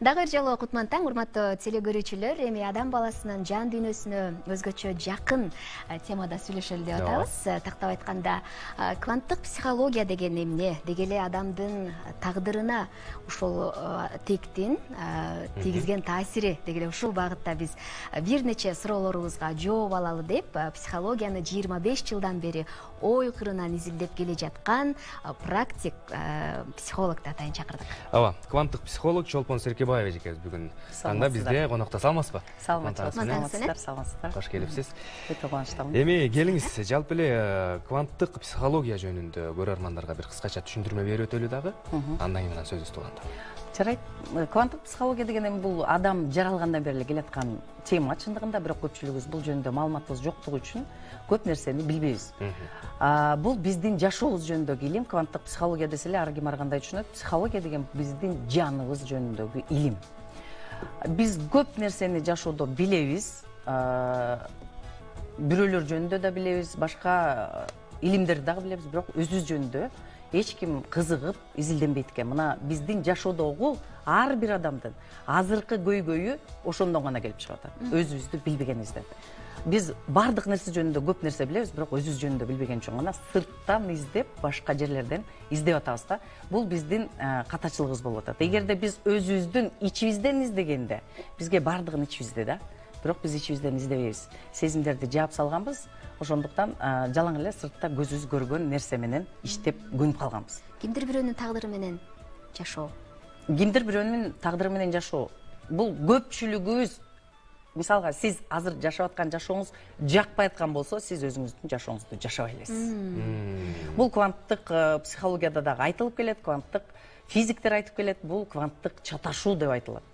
Дагы бир жолу кутман таң, урматтуу телекөрүүчүлөр. Эми адам баласынын жан дүйнөсүнө өзгөчө жакын темада сүйлөшөлү деп атабыз. Тактап айтканда, кванттык психология деген эмне? Деги эле адамдын тагдырына ушул тектин тийгизген таасири деги эле ушул багытта биз бир нече суроолорубузга жооп алалы деп психологияны 25 жылдан бери ой кырынан изилдеп келе жаткан практик психологду атайын чакырдык. Ооба, кванттык психолог Чолпон Серкебаева эжекебиз бүгүн таңда бизде конокто. Саламатсызбы? Саламатсыздар. Кош келипсиз. Өтө кубанычтамын. Эми келиңиз, жалпы эле кванттык психология жөнүндө көрөрмандарга бир кыскача түшүндүрмө берип өтөлү дагы. Андан кийин менен сөзүбүздү уланталы. Жарайт. Кванттык психология деген эми бул адам жаралгандан бери эле келаткан тема чындыгында, бирок көпчүлүгүбүз бул жөнүндө маалыматыбыз жоктугу үчүн көп нерсени билбейбиз. Бул биздин жашообуз жөнүндөгү илим. Кванттык психология десе эле ар ким ар кандай түшүнөт. Психология деген биздин жаныбыз жөнүндөгү илим. Биз көп нерсени жашоодо билебиз. Бирөөлөр жөнүндө да билебиз, башка илимдерди дагы билебиз, бирок өзүбүз жөнүндө эч ким кызыгып изилденбейт экен. Мына биздин жашоодогу ар бир адамдын азыркы көйгөйү ошондон гана келип чыгып атат. Өзүбүздү билбегенибизден. Биз бардык нерсе жөнүндө көп нерсе билебиз, бирок өзүбүз жөнүндө билбеген үчүн гана сырттан издеп, башка жерлерден издеп атабыз да. Бул биздин катачылыгыбыз болуп атат. Эгерде биз өзүбүздүн ичибизден издегенде, бизге бардыгын ичибизде да, бирок биз ичибизден издебейбиз. Сезимдерди жаап салганбыз. Ошондуктан жалаң эле сыртта көзүбүз көргөн нерсе менен иштеп көнүп калганбыз. Кимдир бирөөнүн тагдыры менен жашоо. Кимдир бирөөнүн тагдыры менен жашоо. Бул көпчүлүгүбүз, мисалга сиз азыр жашап аткан жашооңуз жакпай аткан болсо, сиз өзүңүздүн жашооңузду жашабай элесиз. Бул кванттык психологияда дагы айтылып келет, кванттык физиктер айтып келет, бул кванттык чаташуу деп айтылат.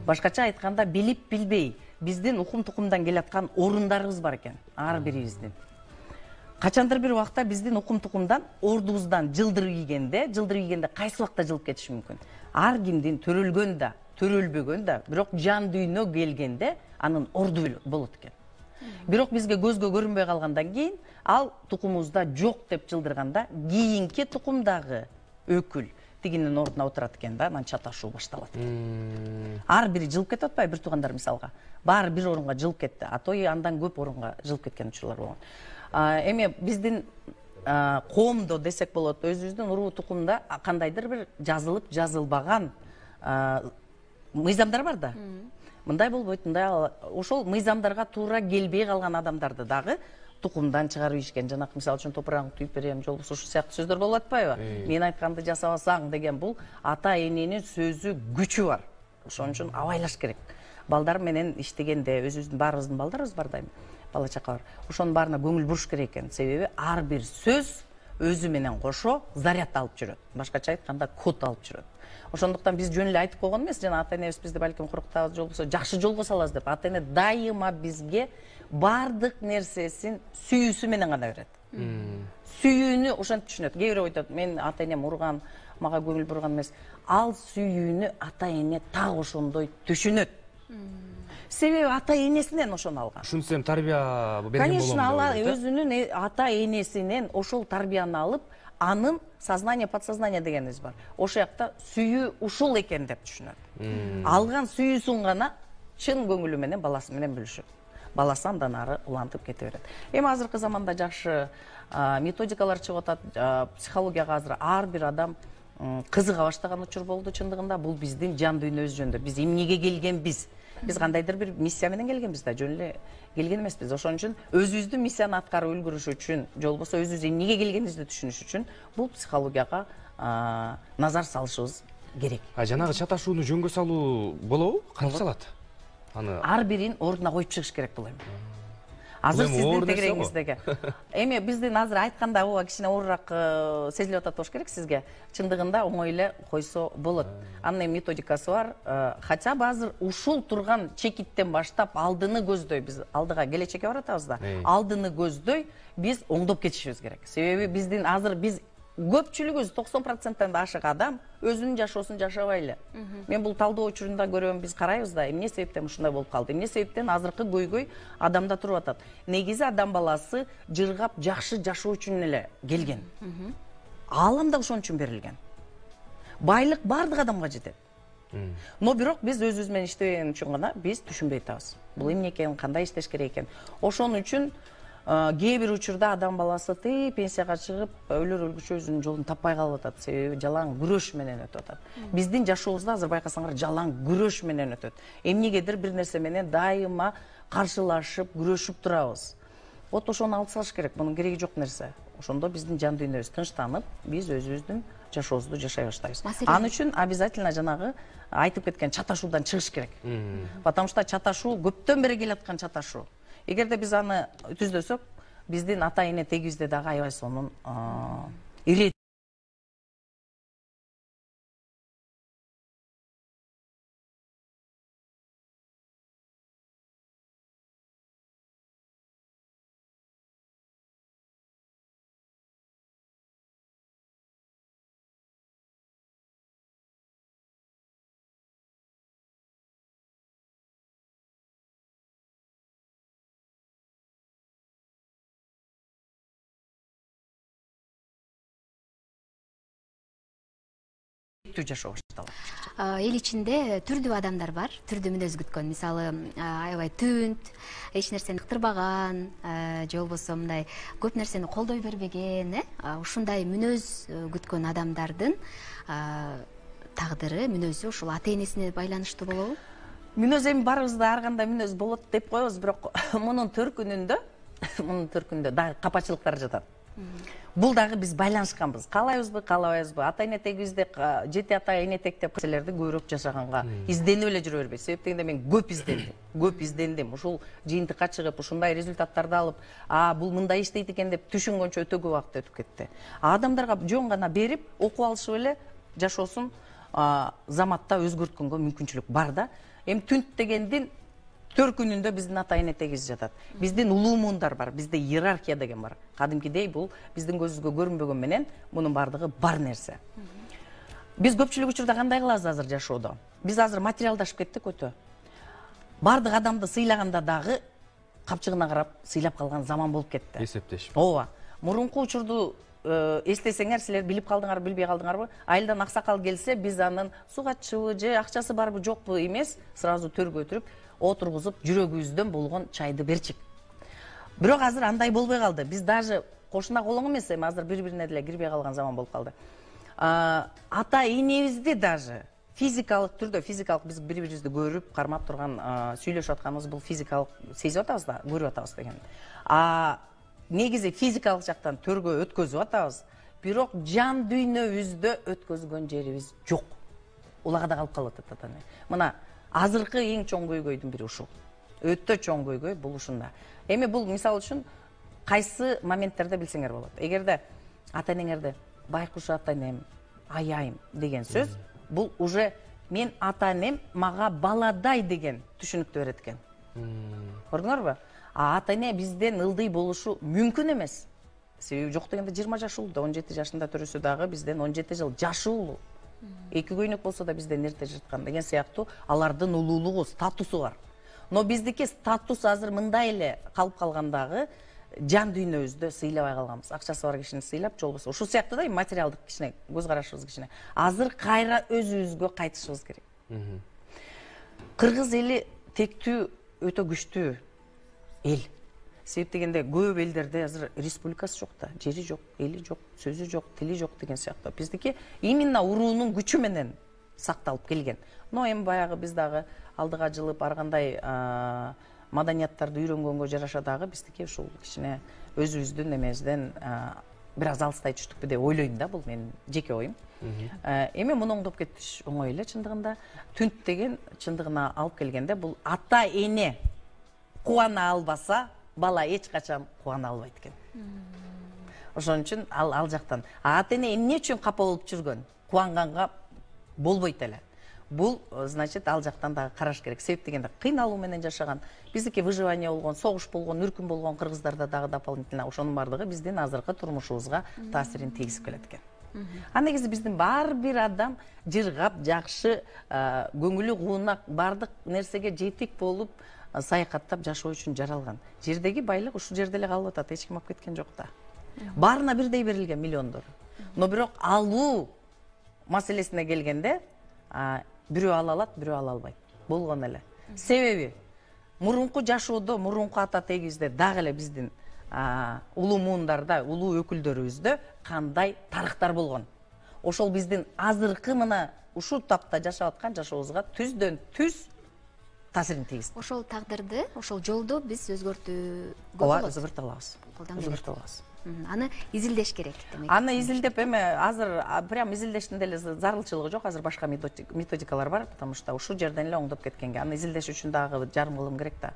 Башкача айтканда, билип билбей биздин укум тукумдан келаткан орундарыбыз бар экен, ар бирибиздин. Качандыр бир убакта биздин укум тукумдан ордубуздан жылдыр ийгенде кайсы убакта жылып кетиши мүмкүн. Ар кимдин төрөлгөн да, төрөлбөгөн да, бирок жан дүйнө келгенде анын орду болот экен. Бирок бизге көзгө көрүнбөй калгандан кийин, ал тукумубузда жок деп жылдырганда, кийинки тукумдагы өкүл тигинин ордуна отурат экен да, анан чаташуу башталат. Ар бири жылып кетип атпайбы, бир туугандар мисалга. Баары бир орунга жылып кетти, а то андан көп орунга жылып кеткен учурлар болгон. Эми биздин коомдо десек болот, өзүбүздүн уруу тукумда кандайдыр бир жазылып жазылбаган мыйзамдар бар да. Мындай болбойт, мындай ошол мыйзамдарга туура келбей калган адамдарды дагы тукумдан чыгарып ийишкен. Жанакы мисалы үчүн топурагыңды түйүп берем, жолбосо ушул сыяктуу сөздөр болуп атпайбы? Мен айтканды жасабасаң деген бул ата эненин сөзү күчү бар. Ошон үчүн абайлаш керек. Балдар менен иштегенде өзүбүздүн баарыбыздын балдарыбыз бар дайым. Бала чака бар. Ошонун баарына көңүл буруш керек экен. Себеби ар бир сөз өзү менен кошо заряд алып жүрөт. Башкача айтканда код алып жүрөт. Ошондуктан биз жөн эле айтып койгон эмес, жана ата энебиз бизди балким курктабыз, жолбосо жакшы жолго салабыз деп. Ата эне дайыма бизге бардык нерсесин сүйүүсү менен гана берет. Сүйүүнү ошентип түшүнөт. Кээ бирөө айтат, мен ата энем урган, мага көңүл бурган эмес. Ал сүйүүнү ата эне так ошондой түшүнөт. Себеби ата энесинен ошону алган. Ушунсем тарбия берген болом. Конечно, ал өзүнүн ата энесинен ошол тарбияны алып, анын сознание, подсознание дегенибиз бар. Ошол жакта сүйүү ушул экен деп түшүнөт. Алган сүйүүсүн гана чын көңүлү менен баласы менен бөлүшөт. Баласы андан ары улантып кете берет. Эми азыркы заманда жакшы методикалар чыгып атат. Психологияга азыр ар бир адам кызыга баштаган учур болду чындыгында. Бул биздин жан дүйнөбүз жөнүндө. Биз эмнеге келгенбиз? Биз кандайдыр бир миссия менен келгенбиз да, жөн эле келген эмеспиз. Ошон үчүн өзүбүздүн миссияны аткарып үлгүрүш үчүн, жолбосо өзүбүз эмнеге келгенибизди түшүнүш үчүн бул психологияга назар салышыбыз керек. Жанагы чаташууну жөнгө салуу болобу? Кантип салат? Ар бирин ордуна коюп чыгыш керек бул эми. Азыр сиздин тегереңиздеги. Эми биздин азыр айтканда ооба кичине оорураак сезилип атат болуш керек сизге. Чындыгында оңой эле койсо болот. Анын методикасы бар. Хотя азыр ушул турган чекиттен баштап алдыны көздөй, биз алдыга келечекке баратабыз да. Алдыны көздөй биз оңдоп кетишибиз керек. Себеби биздин азыр биз көпчүлүгүбүз 90%-тан ашык адам өзүнүн жашоосун жашабай эле. Мен бул талдоо учурунда көрөм, биз карайбыз да, эмне себептен ушундай болуп калды? Эмне себептен азыркы көйгөй адамда туруп атат? Негизи адам баласы жыргап жакшы жашоо үчүн эле келген. Аалам да ошон үчүн берилген. Байлык бардык адамга жетет. Но бирок биз өзүбүз менен иштебеген үчүн гана биз түшүнбөй атабыз. Бул эмне экен, кандай иштеш керек экен. Ошон үчүн кээ бир учурда адам баласы пенсияга чыгып, өлөр өлгүчө өзүнүн жолун таппай калып атат. Себеби жалаң күрөш менен өтүп атат. Биздин жашообузда азыр байкасаңар жалаң күрөш менен өтөт. Эмнегедир бир нерсе менен дайыма каршылашып, күрөшүп турабыз. Вот ошону алып салыш керек, мунун кереги жок нерсе. Ошондо биздин жан дүйнөбүз тынчтанып, биз өзүбүздүн жашообузду жашай баштайбыз. Ал үчүн обязательно жанагы айтып кеткен чаташуудан чыгыш керек. Потому что чаташуу көптөн бери келаткан чаташуу. Эгерде биз аны түздөсөк, биздин ата эне тегибизде дагы аябай сонун ирет жашоо башталат. Эл ичинде түрдүү адамдар бар, түрдүү мүнөз күткөн. Мисалы, аябай түнт, эч нерсени ыктырбаган, же болбосо мындай көп нерсени колдой бербеген, ушундай мүнөз күткөн адамдардын тагдыры, мүнөзү ушул ата энесине байланыштуу болобу? Мүнөз эми баарыбызда ар кандай мүнөз болот деп коебуз, бирок мунун төркүнүндө дагы капачылыктар жатат. Бул дагы биз байланышканбыз. Каалайбызбы, каалабайбызбы, ата эне тегибизде жети ата эне тектеп нерселерди көбүрөөк жашаганга изденип эле жүрө бербейт. Себеп дегенде мен көп издендим. Ушул жыйынтыкка чыгып, ушундай результаттарды алып, бул мындай иштейт экен деп түшүнгөнчө өтө көп убакыт өтүп кетти. Адамдарга жөн гана берип, окуп алышып эле жашоосун заматта өзгөрткөнгө мүмкүнчүлүк бар да. Эми түнт дегендин төркүнүндө биздин ата эне тегибиз жатат. Биздин улуу муундар бар, бизде иерархия деген бар. Кадимкидей бул биздин көзүбүзгө көрүнбөгөн менен мунун бардыгы бар нерсе. Биз көпчүлүк учурда кандай кылабыз азыр жашоодо? Биз азыр материалдашып кеттик өтө. Бардык адамды сыйлаганда дагы капчыгына карап сыйлап калган заман болуп кетти. Эсептешип. Ооба. Мурунку учурду эстесеңер, силер билип калдыңарбы, билбей калдыңарбы? Айылдан аксакал келсе, биз анын сугатчыбы же акчасы барбы, жокпу эмес, сразу төргө өтүрүп, отургузуп, жүрөгүбүздөн болгон чайды берчик. Бирок азыр андай болбой калды. Биз даже кошуна колоң эмес, эми азыр бири-бирине деле кирбей калган заман болуп калды. Ата энебизди даже физикалык түрдө, биз бири-бирибизди көрүп, кармап турган, сүйлөшүп атканыбыз бул физикалык сезип атабыз да, көрүп атабыз деген. Негизи физикалык жактан төргө өткөзүп атабыз, бирок жан дүйнөбүздө өткөзгөн жерибиз жок. Улагада калып калып атат ата эне. Мына азыркы эң чоң көйгөйдүн бири ушул. Өтө чоң көйгөй бул ушунда. Эми бул мисал үчүн кайсы моменттерде билсеңер болот. Эгерде ата энеңерди байкуш ата энем, аяйм деген сөз, бул уже мен ата энем мага баладай деген түшүнүктү берет экен. Көрдүңөрбү? Ата эне бизден ылдый болушу мүмкүн эмес. Себеби жок дегенде 20 жаш улуу, 17 жашында төрөсө дагы бизден 17 жыл жашы улуу. Эки көйнөк болсо да бизден эрте жаткан деген сыяктуу алардын улуулугу, статусу бар. Но биздики статус азыр мындай эле калып калгандагы жан дүйнөбүздө сыйлабай калганбыз. Акчасы бар кишини сыйлап, же болбосо ушул сыяктуу да материалдык кичине көз карашыбыз кичине. Азыр кайра өзүбүзгө кайтышыбыз керек. Кыргыз эли тектүү өтө күчтүү эл. Себеп дегенде көп элдерде азыр республикасы жок да, жери жок, эли жок, сөзү жок, тили жок деген сыяктуу. Биздики именно уруунун күчү менен сакталып келген. Но эми баягы биз дагы алдыга жылып ар кандай маданияттарды үйрөнгөнгө жараша дагы биздики ушул кичине өзүбүздүн эмебизден бир аз алыстай түштүкпү деп ойлойм да, бул менин жеке оюм. Эми муну оңдоп кетиш оңой эле чындыгында. Түнт деген чындыгына алып келгенде бул ата эне кубана албаса, бала эч качан кубана албайт экен. Ошон үчүн ал жактан ата эне эмне үчүн капа болуп жүргөн, кубанганга болбойт эле. Бул значит ал жактан дагы караш керек. Себеп дегенде кыйналуу менен жашаган, биздики выживание болгон, согуш болгон, үркүм болгон кыргыздарда дагы дополнительно ошонун бардыгы биздин азыркы турмушубузга таасирин тийгизип келет экен. Негизи биздин бар бир адам жыргап, жакшы, көңүлү куунак, бардык нерсеге жетик болуп саякаттап жашоо үчүн жаралган. Жердеги байлык ушул жерде эле калып атат, эч ким алып кеткен жок да. Баарына бирдей берилген миллиондор. Но бирок алуу маселесине келгенде бирөө ала алат, бирөө ала албайт. Болгон эле. Себеби мурунку жашоодо, мурунку ата тегибизде дагы эле биздин улуу муундарда, улуу өкүлдөрүбүздө кандай тарыхтар болгон. Ошол биздин азыркы мына ушул тапта жашап аткан жашообузга түздөн түз таасирин тийгизди. Ошол тагдырды, ошол жолду биз өзгөртүүгө Ооба, болот. өзгөртө алабыз. Өзгөртө алабыз. Аны изилдеш керек демек. Аны изилдеп эме азыр прям изилдештин деле зарылчылыгы жок. Азыр башка методикалар бар, потому что ушул жерден эле оңдоп кеткенге. Аны изилдеш үчүн дагы жарым кылым керек да.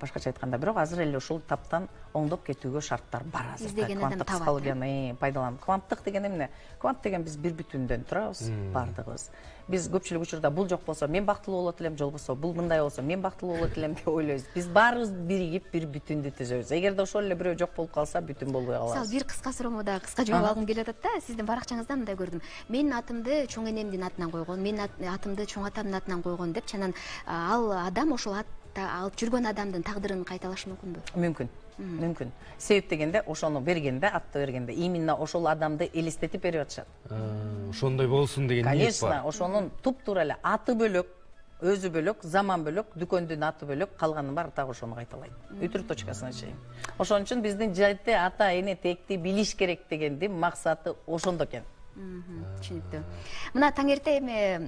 Башкача айтканда, бирок азыр эле ушул таптан оңдоп кетүүгө шарттар бар азыр. Издеген адам табат. Психологияны пайдаланып. Кванттык деген эмне? Квант деген биз бир бүтүндөн турабыз, бардыгыбыз. Биз көпчүлүк учурда бул жок болсо мен бактылуу болот элем, жол болсо бул мындай болсо мен бактылуу болот элем деп ойлойбуз. Биз баарыбыз биригип бир бүтүндү түзөбүз. Эгерде ошол эле бирөө жок болуп калса, бүтүн болбой калабыз. Мисалы бир кыска суроомо да кыска жооп алгым келип атат да. Сиздин баракчаңыздан мындай көрдүм. Менин атымды чоң энемдин атынан койгон, менин атымды чоң атамдын атынан койгон деп, анан ал адам ошол алып жүргөн адамдын тагдырын кайталашы мүмкүнбү? Мүмкүн. Мүмкүн. Себеп дегенде ошону бергенде, атты бергенде именно ошол адамды элестетип берип атышат. Ошондой болсун деген ниет бар. Конечно, ошонун туп-туура эле аты бөлөк, өзү бөлөк, заман бөлөк, дүкөндүн аты бөлөк, калганын баары так ошону кайталайт. Үтүр точкасына чейин. Ошон үчүн биздин жайты ата эне текти билиш керек дегендин максаты ошондо экен. Түшүнүктүү. Мына таңерте эми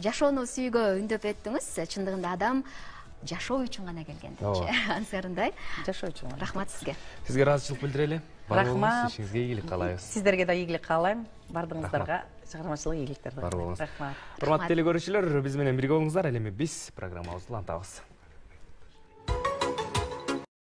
жашоону сүйгө үндөп өттүңүз. Чындыгында адам жашоо үчүн гана келген депчи. Ансарындай. Жашоо үчүн. Рахмат сизге. Сизге ыраазычылык билдирели. Рахмат. Ишиңизге ийгилик каалайбыз. Сиздерге да ийгилик каалайм. Бардыгыңыздарга чыгармачылык ийгиликтерди. Бар болуңуз. Рахмат. Урматтуу телекөрүүчүлөр, биз менен бирге болуңуздар. Ал эми биз программабызды улантабыз.